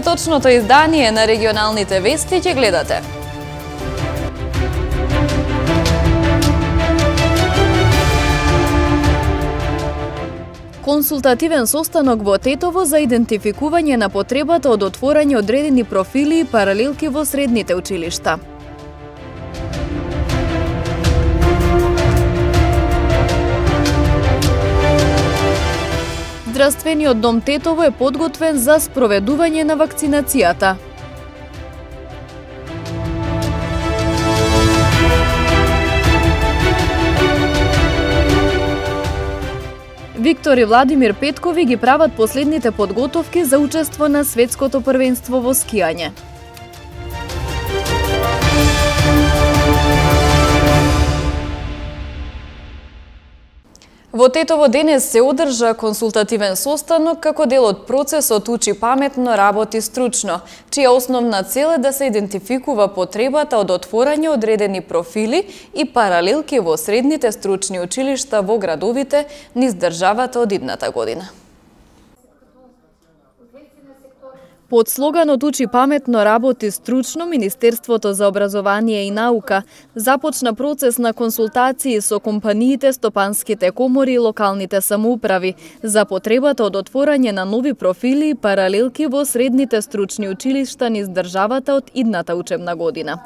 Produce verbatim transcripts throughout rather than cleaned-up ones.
Петочното издание на регионалните вести ќе гледате. Консултативен состанок во Тетово за идентификување на потребата од отворање одредени профили и паралелки во средните училишта. Здравствениот дом Тетово е подготвен за спроведување на вакцинацијата. Виктор и Владимир Петкови ги прават последните подготовки за учество на светското првенство во скијање. Во Тетово денес се одржа консултативен состанок како дел од процесот Учи паметно, работи стручно, чија основна цел е да се идентификува потребата од отворање одредени профили и паралелки во средните стручни училишта во градовите низ државата од идната година. Под слоганот Учи паметно, работи стручно, Министерството за образование и наука започна процес на консултации со компаниите, стопанските комори и локалните самоуправи за потребата од отворање на нови профили и паралелки во средните стручни училишта низ државата од идната учебна година.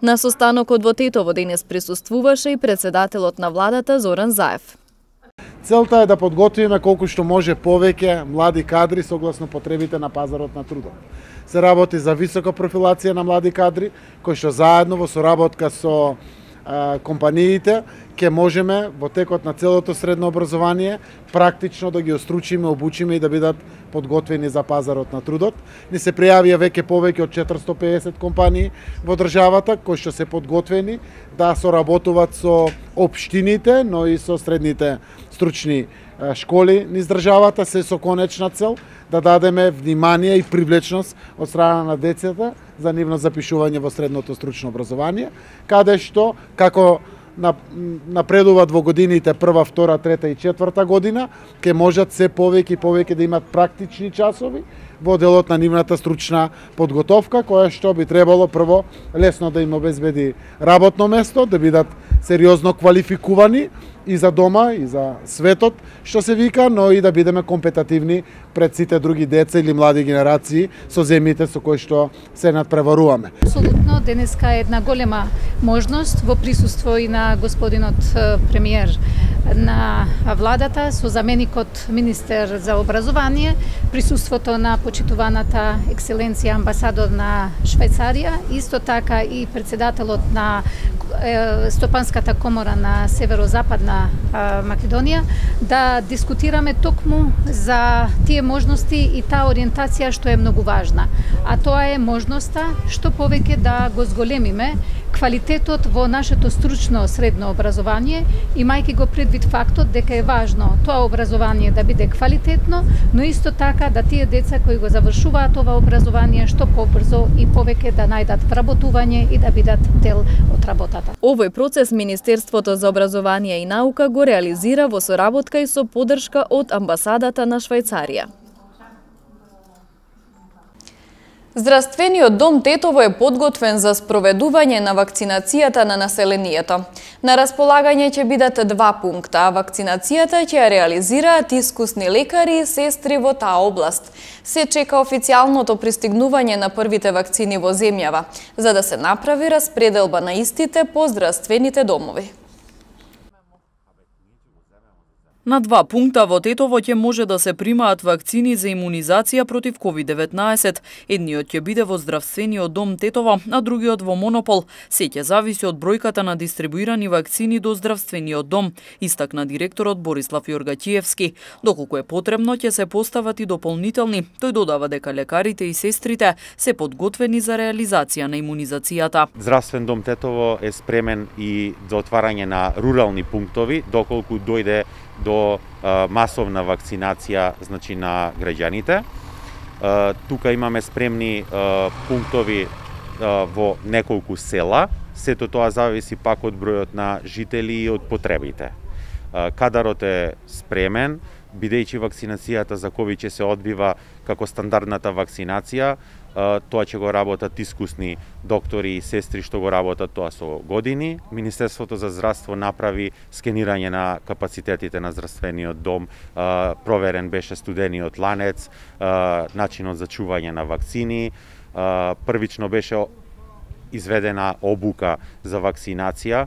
На состанокот во Тетово денес присуствуваше и председателот на владата Зоран Заев. Целта е да подготвиме колку што може повеќе млади кадри согласно потребите на пазарот на трудот. Се работи за висока профилација на млади кадри, кои што заедно во соработка со а, компаниите ќе можеме во текот на целото средно образование практично да ги остручиме, обучиме и да бидат подготвени за пазарот на трудот. Ни се пријавија веќе повеќе од четиристотини и педесет компании во државата кои што се подготвени да соработуваат со општините, но и со средните стручни школи низ државата, се со конечна цел да дадеме внимание и привлечност од страна на децата за нивно запишување во средното стручно образование, каде што како напредуваат во годините прва, втора, трета и четврта година, ќе можат се повеќе и повеќе да имат практични часови во делот на нивната стручна подготовка, која што би требало прво лесно да им обезбеди работно место, да бидат сериозно квалификувани и за дома, и за светот, што се вика, но и да бидеме компетативни пред сите други деца или млади генерации со земјите со кои што се надпреваруваме. Апсолутно, денеска е една голема можност во присуство и на господинот премиер на владата, со заменикот министер за образование, присуството на почитуваната екселенција амбасадор на Швајцарија, исто така и председателот на Стопанската комора на Северозападна Македонија, да дискутираме токму за тие можности и таа ориентација што е многу важна. А тоа е можноста што повеќе да го зголемиме квалитетот во нашето стручно средно образование, имајќи го предвид фактот дека е важно тоа образование да биде квалитетно, но исто така да тие деца кои го завршуваат ова образование што побрзо и повеќе да најдат вработување и да бидат дел од работата. Овој процес Министерството за образование и наука го реализира во соработка и со поддршка од амбасадата на Швајцарија. Здравствениот дом Тетово е подготвен за спроведување на вакцинацијата на населението. На располагање ќе бидат два пункта, а вакцинацијата ќе ја реализираат искусни лекари и сестри во таа област. Се чека официјалното пристигнување на првите вакцини во земјава, за да се направи распределба на истите по здравствените домови. На два пункта во Тетово ќе може да се примаат вакцини за имунизација против ковид деветнаесет. Едниот ќе биде во здравствениот дом Тетово, а другиот во Монопол. Се ќе зависи од бројката на дистрибуирани вакцини до здравствениот дом, истакна директорот Борислав Јоргачиевски. Доколку е потребно, ќе се постават и дополнителни. Тој додава дека лекарите и сестрите се подготвени за реализација на имунизацијата. Здравствен дом Тетово е спремен и за отварање на рурални пунктови, доколку дојде до а, масовна вакцинација, значи, на граѓаните. А, тука имаме спремни а, пунктови а, во неколку села. Сето тоа зависи пак од бројот на жители и од потребите. А, кадарот е спремен, бидејќи вакцинацијата за ковид ќе се одбива како стандардната вакцинација, тоа ќе го работат искусни доктори и сестри што го работат тоа со години. Министерството за здравство направи скенирање на капацитетите на здравствениот дом, проверен беше студениот ланец, начинот за чување на вакцини, првично беше изведена обука за вакцинација,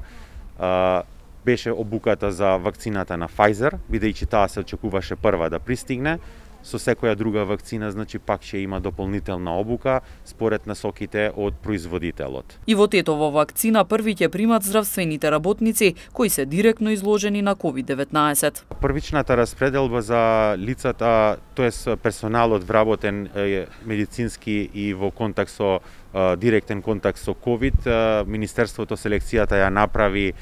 беше обуката за вакцината на Pfizer, бидејќи таа се очекуваше прва да пристигне. Со секоја друга вакцина, значи, пак ќе има дополнителна обука според насоките од производителот. И во Тетово вакцина први ќе примат здравствените работници кои се директно изложени на ковид деветнаесет. Првичната распределба за лицата, тоест персоналот вработен медицински и во контакт со директен контакт со ковид, Министерството селекцијата ја направи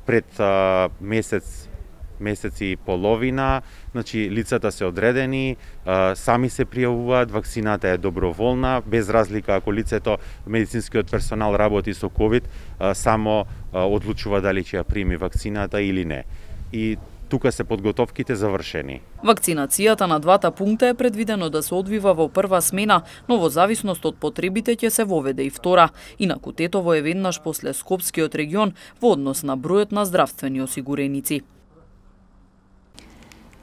пред месец месец и половина, значи лицата се одредени, сами се пријавуваат, вакцината е доброволна, без разлика ако лицето, медицинскиот персонал работи со ковид, само одлучува дали ќе ја прими вакцината или не. И тука се подготовките завршени. Вакцинацијата на двата пункта е предвидено да се одвива во прва смена, но во зависност од потребите ќе се воведе и втора. Инаку Тетово е веднаш после Скопскиот регион во однос на бројот на здравствени осигуреници.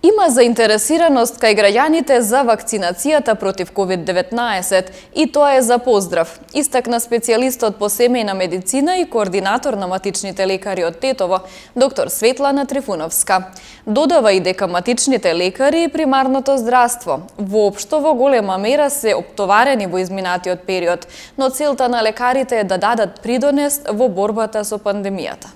Има заинтересираност кај граѓаните за вакцинацијата против ковид деветнаесет и тоа е за поздрав, истакна специјалистот по семејна медицина и координатор на матичните лекари од Тетово, доктор Светлана Трифуновска. Додава и дека матичните лекари и примарното здравство воопшто во голема мера се оптоварени во изминатиот период, но целта на лекарите е да дадат придонес во борбата со пандемијата.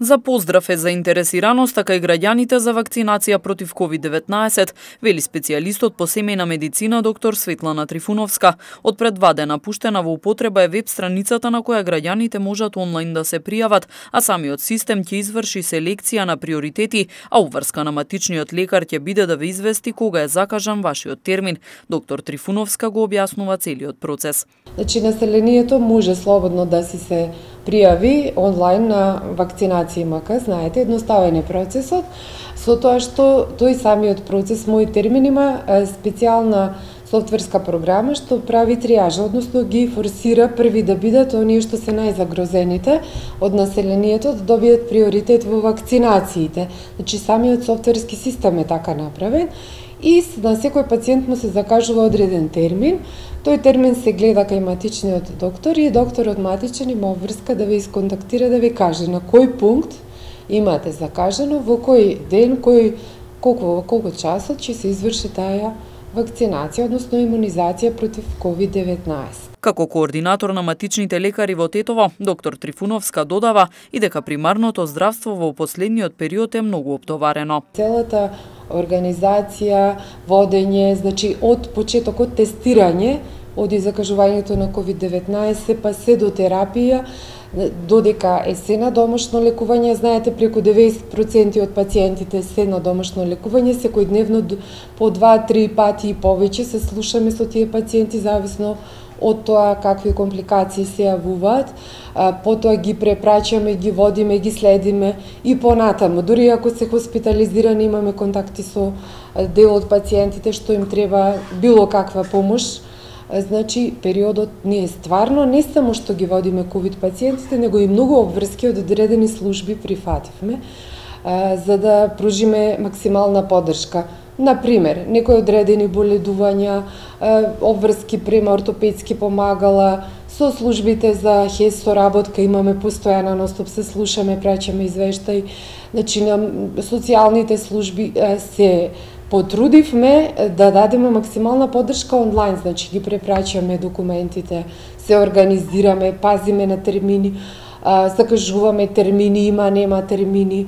За поздрав е заинтересираноста кај граѓаните за вакцинација против ковид деветнаесет, вели специјалистот по семејна медицина доктор Светлана Трифуновска. Од пред два дена пуштена во употреба е веб страницата на која граѓаните можат онлайн да се пријават, а самиот систем ќе изврши селекција на приоритети, а уврска на матичниот лекар ќе биде да ве извести кога е закажан вашиот термин. Доктор Трифуновска го објаснува целиот процес. Значи, населението може слободно да си се пријави онлайн на вакцинација МК, знаете, едноставен е процесот, со тоа што тој самиот процес мој термин има специјална софтверска програма што прави триажа, односно ги форсира први да бидат оние што се најзагрозените од населението да добијат приоритет во вакцинациите. Значи, самиот софтверски систем е така направен и на секој пациент му се закажува одреден термин. Тој термин се гледа кај матичниот доктор и докторот матичен има врска да ве исконтактира да ви каже на кој пункт имате закажано, во кој ден, кој, колку, во колку часот ќе се изврши таа вакцинација, односно имунизација против ковид деветнаесет. Како координатор на матичните лекари во Тетово, доктор Трифуновска додава и дека примарното здравство во последниот период е многу оптоварено. Целата организација, водење, значи од почетокот тестирање, од закажувањето на ковид деветнаесет па се до терапија, додека е се на домашно лекување, знаете, преку деветдесет проценти од пациентите се на домашно лекување, секојдневно по два-три пати и повеќе се слушаме со тие пациенти, зависно од тоа какви компликации се јавуваат, потоа ги препраќаме, ги водиме, ги следиме и понатаму. Дури ако се хоспитализирани, имаме контакти со дел од пациентите што им треба било каква помош. Значи, периодот ние стварно не само што ги водиме ковид пациентите, него и многу обврски од одредени служби прифативме, за да пружиме максимална поддршка. Например, некои одредени боледувања, обврски према ортопедски помагала, со службите за ХЕС соработка имаме постојана ностоп, се слушаме, праќаме извештај. Значи, на социјалните служби се потрудивме да дадеме максимална поддршка онлайн, значи ги препраќаме документите, се организираме, пазиме на термини, закажуваме термини, има, нема термини.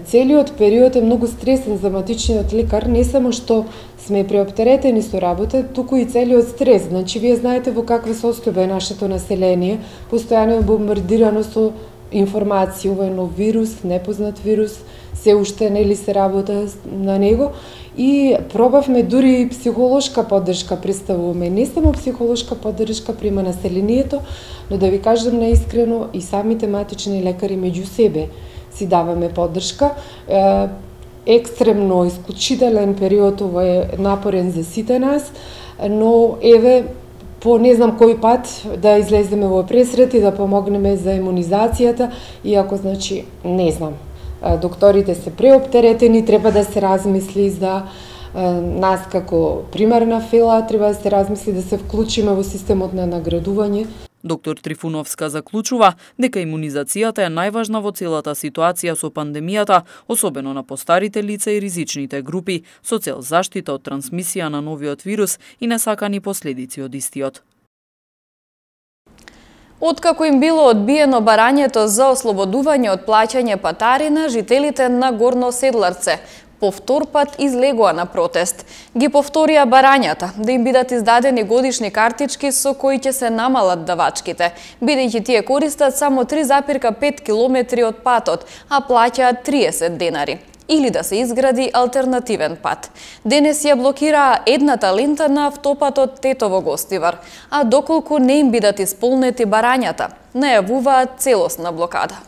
Целиот период е многу стресен за матичниот лекар, не само што сме преоптеретени со работа, туку и целиот стрес. Значи, вие знаете во каква состојба е нашето население, постојано е бомбардирано со информација, ова е нов вирус, непознат вирус, се уште нели се работа на него и пробавме дури и психолошка поддршка представуваме, не само психолошка поддршка према населението, но да ви кажам наискрено и самите матични лекари меѓу себе си даваме поддршка. екстремно, исклучителен период, ова е напорен за сите нас, но еве, по не знам кој пат да излеземе во пресрет и да помогнеме за имунизацијата, иако, значи, не знам, докторите се преоптеретени, треба да се размисли за нас како примерна фела, треба да се размисли да се вклучиме во системот на наградување. Доктор Трифуновска заклучува дека имунизацијата е најважна во целата ситуација со пандемијата, особено на постарите лица и ризичните групи, со цел заштита од трансмисија на новиот вирус и несакани последици од истиот. Откако им било одбиено барањето за ослободување од плаќање патарина, жителите на Горно Седларце по втор пат излегоа на протест. Ги повторија барањата да им бидат издадени годишни картички со кои ќе се намалат давачките, бидејќи тие користат само три запирка пет километри од патот, а плаќаат триесет денари. Или да се изгради алтернативен пат. Денес ја блокираа едната лента на автопатот Тетово-Гостивар, а доколку не им бидат исполнети барањата, најавуваат целосна блокада.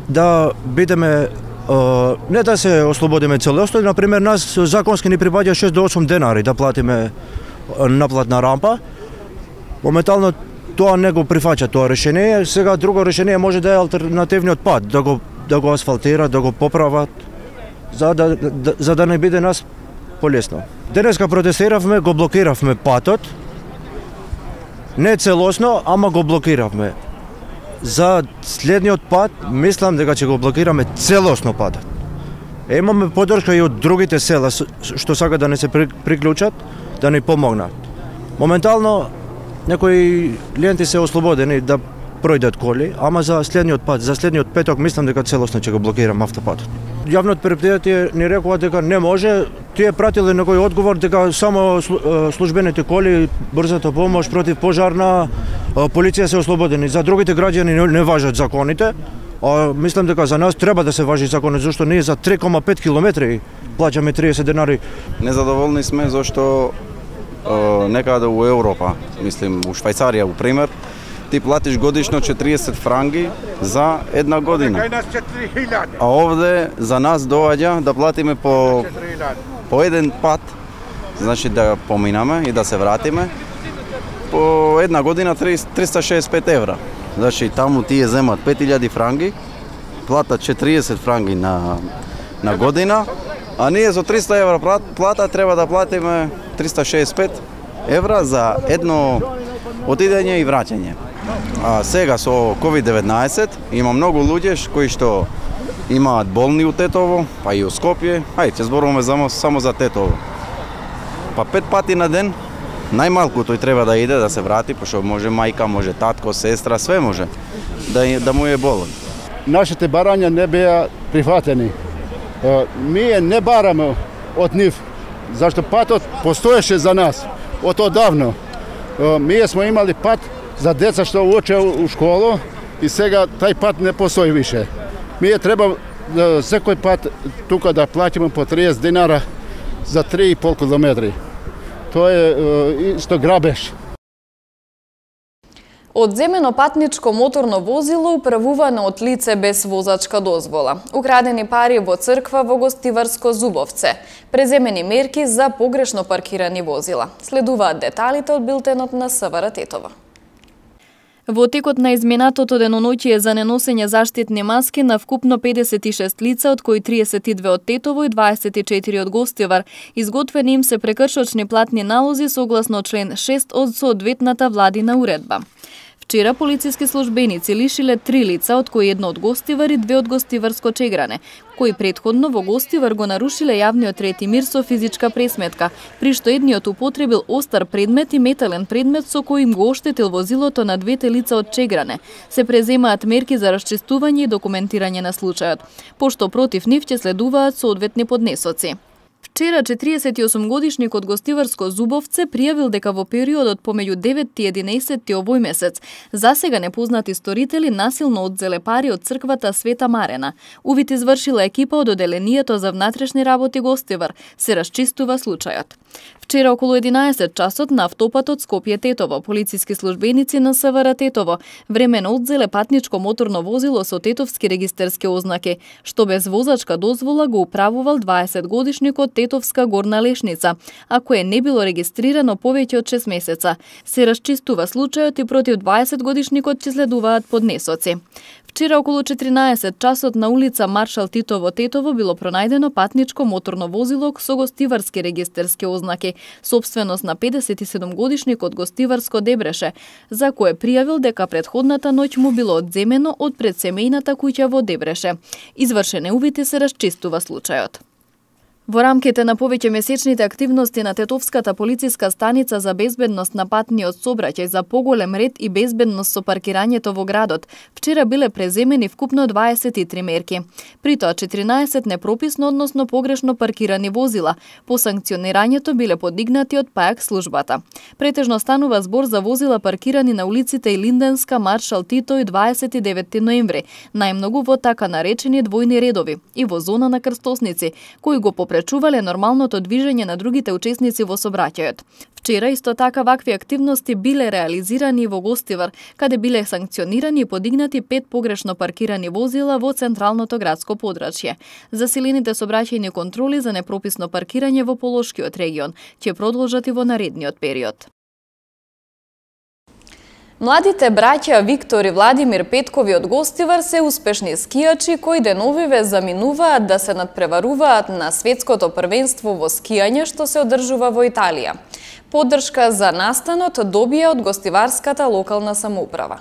Да бидеме не да се ослободиме целосно, например, нас законски ни припаѓа шест до осум денари да платиме наплатна рампа. Моментално тоа не го прифаќа тоа решение. Сега друго решение може да е алтернативниот пат, да го да го асфалтира, да го поправат, за да, да за да не биде нас полесно. Денеска протестиравме, го блокиравме патот. Не целосно, ама го блокиравме. За следниот пат, мислам дека ќе го блокираме целосно патот. Имаме поддршка и од другите села што сака да не се приклучат, да ни помогнат. Моментално некои ленти се ослободени да пројдат коли, ама за следниот пат, за следниот петок мислам дека целосно ќе го блокирам автопатот. Јавното предпријатие ни рекува дека не може, тие пратиле некој одговор дека само службените коли, брзата помош, против пожарна, полиција се ослободени. За другите граѓани не важат законите, а мислам дека за нас треба да се важи законот, зашто ние за три кома пет километри плаќаме триесет денари. Незадоволни сме зашто некаде у Европа, мислим у Швајцарија, у пример, ти платиш годишно четириесет франги за една година. А овде за нас доаѓа да платиме по по еден пат, значи да поминаме и да се вратиме по една година триста шеесет и пет евра. Значи таму тие земат пет илјади франги, платат четириесет франги на на година, а ние со триста евра плата треба да платиме триста шеесет и пет евра за едно отидење и враќање. А сега со ковид деветнаесет има многу луѓе кои што имаат болни у Тетово, па и у Скопје. Ај, ќе зборуваме само, само за Тетово. Па пет пати на ден, најмалку тој треба да иде да се врати, пошто може мајка, може татко, сестра, све може да, да му е болен. Нашите барања не беа прифатени. Ние не бараме од нив, зашто патот постоеше за нас од одавно. Ние сме имали пат за деца што уче у школу и сега тај пат не постои више. Ние треба секој пат тука да платиме по триесет динара за три и пол километри. Тоа е исто грабеж. Одземено патничко моторно возило управувано од лице без возачка дозвола. Украдени пари во црква во Гостиварско Зубовце. Преземени мерки за погрешно паркирани возила. Следуваат деталите од билтенот на СВР Тетово. Во текот на изминатото деноноќие за неносење заштитни маски на вкупно педесет и шест лица, од кои триесет и две од Тетово и дваесет и четири од Гостивар, изготвени им се прекршочни платни налози согласно член шест од соодветната владина уредба. Вчера полициски службеници лишиле три лица, од кои едно од Гостивар и две од Гостиварско Чегране, кои претходно во Гостивар го нарушиле јавниот ред и мир со физичка пресметка, при што едниот употребил остар предмет и метален предмет со кој им го оштетил возилото на двете лица од Чегране. Се преземаат мерки за расчистување и документирање на случајот, пошто против нив ќе следуваат соодветни поднесоци. Вчера четириесет и осум годишникот гостиварско Зубовце пријавил дека во периодот помеѓу деветти и единаесетти овој месец засега непознати сторители насилно одзеле пари од црквата Света Марена. Увид извршила екипа од Оделението за внатрешни работи Гостивар. Се расчистува случајот. Вчера околу единаесет часот на автопатот Скопје-Тетово полициски службеници на СВР Тетово времено одзеле патничко моторно возило со тетовски регистерски ознаки, што без возачка дозвола го управувал дваесет годишникот Тетовска Горна Лешница, а кое не било регистрирано повеќе од шест месеца. Се расчистува случајот и против дваесет годишникот ќе следуваат поднесоци. Вчера околу четиринаесет часот на улица Маршал Тито во Тетово било пронајдено патничко моторно возило со гостиварски регистерски ознаки, сопственост на педесет и седум годишникот Гостиварско Дебреше, за кое пријавил дека претходната ноќ му било одземено од предсемејната куќа во Дебреше. Извршен е увид и се расчистува случајот. Во рамките на повеќе месечните активности на Тетовската полициска станица за безбедност на патниот сообраќај за поголем ред и безбедност со паркирањето во градот, вчера биле преземени вкупно дваесет и три мерки. При тоа четиринаесет непрописно, односно погрешно паркирани возила. По санкционирањето биле подигнати од ПАјАК службата. Претежно станува збор за возила паркирани на улиците Илинденска, Маршал Тито и дваесет и деветти ноември, најмногу во така наречени двојни редови и во зона на крстосници, кои го попречувале нормалното движење на другите учесници во сообраќајот. Вчера исто така вакви активности биле реализирани во Гостивар, каде биле санкционирани и подигнати пет погрешно паркирани возила во централното градско подрачје. Засилените сообраќајни контроли за непрописно паркирање во Полошкиот регион ќе продолжат и во наредниот период. Младите браќа Виктор и Владимир Петкови од Гостивар се успешни скијачи кои деновиве заминуваат да се надпреваруваат на светското првенство во скијање што се одржува во Италија. Поддршка за настанот добија од гостиварската локална самоуправа.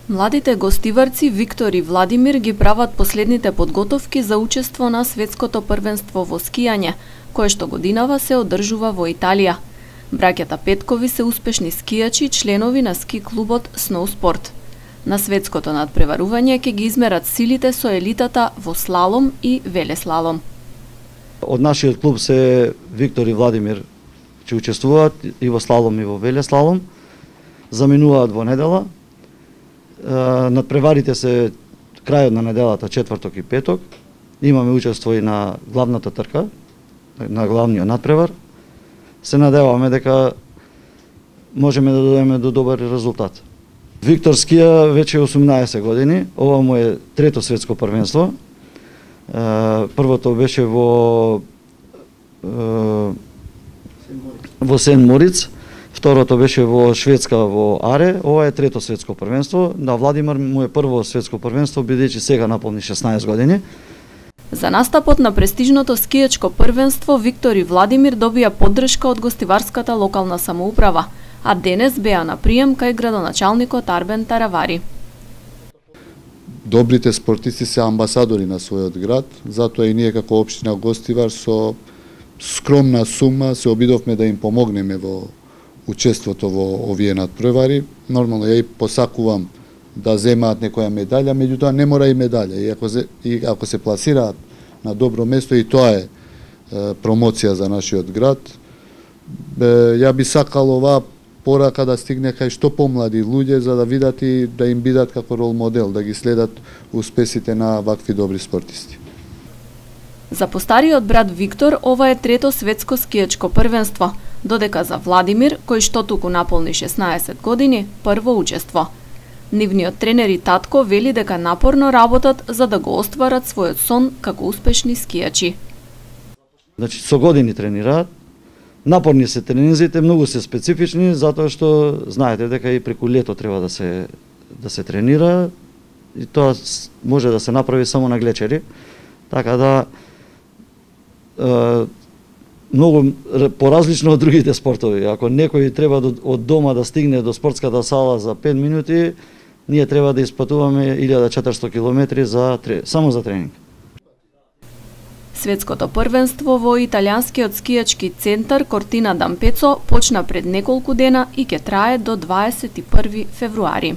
Младите гостиварци Виктор и Владимир ги прават последните подготовки за учество на светското првенство во скијање, кое што годинава се одржува во Италија. Браќата Петкови се успешни скијачи, членови на ски клубот Сноуспорт. На светското надпреварување ќе ги измерат силите со елитата во слалом и велеслалом. Од нашиот клуб се Виктор и Владимир ќе учествуваат и во слалом и во велеслалом. Заминуваат во недела. Надпреварите се крајот на неделата, четврток и петок. Имаме учество и на главната трка, на главниот надпревар. Се надеваме дека можеме да дојдеме до добар резултат. Виктор скија веќе осумнаесет години, ова му е трето светско првенство. Првото беше во во Сен Мориц, второто беше во Шведска во Аре, ова е трето светско првенство. На Владимир му е прво светско првенство, бидејќи сега наполни шеснаесет години. За настапот на престижното скијачко првенство Виктор и Владимир добија поддршка од гостиварската локална самоуправа, а денес беа на прием кај градоначалникот Арбен Таравари. Добрите спортисти се амбасадори на својот град, затоа и ние како општина Гостивар со скромна сума се обидовме да им помогнеме во учеството во овие надпревари. Нормално ја и посакувам да земаат некоја медаља, меѓутоа не мора и медаља. И ако се, и ако се пласираат на добро место, и тоа е, е промоција за нашиот град. Е, ја би сакал оваа порака да стигне кај што помлади луѓе, за да видат и да им бидат како рол модел, да ги следат успесите на вакви добри спортисти. За постариот брат Виктор ова е трето светско скијачко првенство, додека за Владимир, кој што туку наполни шеснаесет години, прво учество. Нивниот тренер и татко вели дека напорно работат за да го остварат својот сон како успешни скијачи. Значи, со години тренираат. Напорни се тренинзите, многу се специфични, затоа што знаете дека и преку лето треба да се да се тренира и тоа може да се направи само на глечери. Така да е, многу поразлично од другите спортови. Ако некој треба од дома да стигне до спортската сала за пет минути, ние треба да испатуваме илјада и четиристотини километри за само за тренинг. Светското првенство во италијанскиот скијачки центар Кортина d'Ampezzo почна пред неколку дена и ќе трае до дваесет и први февруари.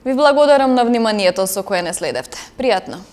Ви благодарам на вниманието со кое не следевте. Пријатно!